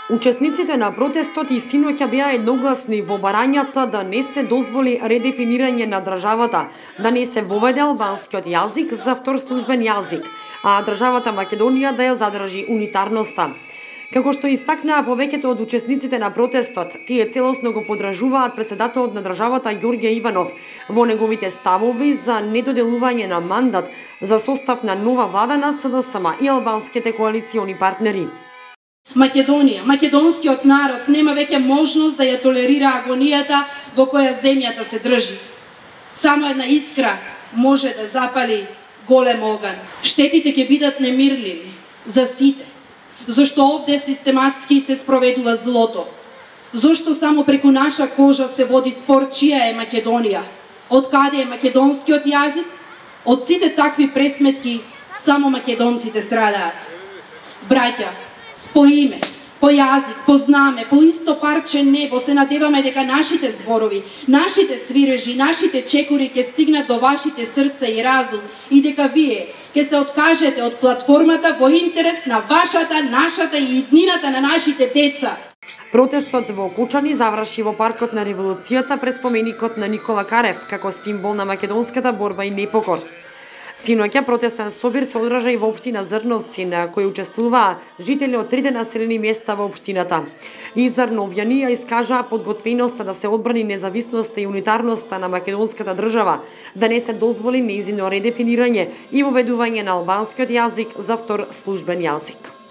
Учесниците на протестот и синоќа беа едногласни во барањата да не се дозволи редефинирање на државата, да не се воведе албанскиот јазик за втор службен јазик, а државата Македонија да ја задржи унитарноста. Како што истакнаа повеќето од учесниците на протестот, тие целосно го подражуваат председателот на државата Ѓорѓе Иванов во неговите ставови за недоделување на мандат за состав на нова влада на СДСМ и албанските коалициони партнери. Македонија, македонскиот народ нема веќе можност да ја толерира агонијата во која земјата се држи. Само една искра може да запали голем оган. Штетите ќе бидат немирливи за сите, зашто овде систематски се спроведува злото. Зошто само преку наша кожа се води спор чија е Македонија, од каде е македонскиот јазик, од сите такви пресметки само македонците страдаат. Браќа, по име, по јазик, по знаме, по исто парче небо се надеваме дека нашите зборови, нашите свирежи, нашите чекори ќе стигнат до вашите срца и разум и дека вие ќе се откажете од платформата во интерес на вашата, нашата и иднината на нашите деца. Протестот во Кучани заврши во паркот на Револуцијата пред споменикот на Никола Карев како символ на македонската борба и непокор. Синоќа протестен собир се одржа и во општина Зрновци, на кој учествуваа жители од трите населени места во општината. И Зрновјани ја искажаа подготвеноста да се одбрани независноста и унитарноста на македонската држава, да не се дозволи нејзино редефинирање и воведување на албанскиот јазик за втор службен јазик.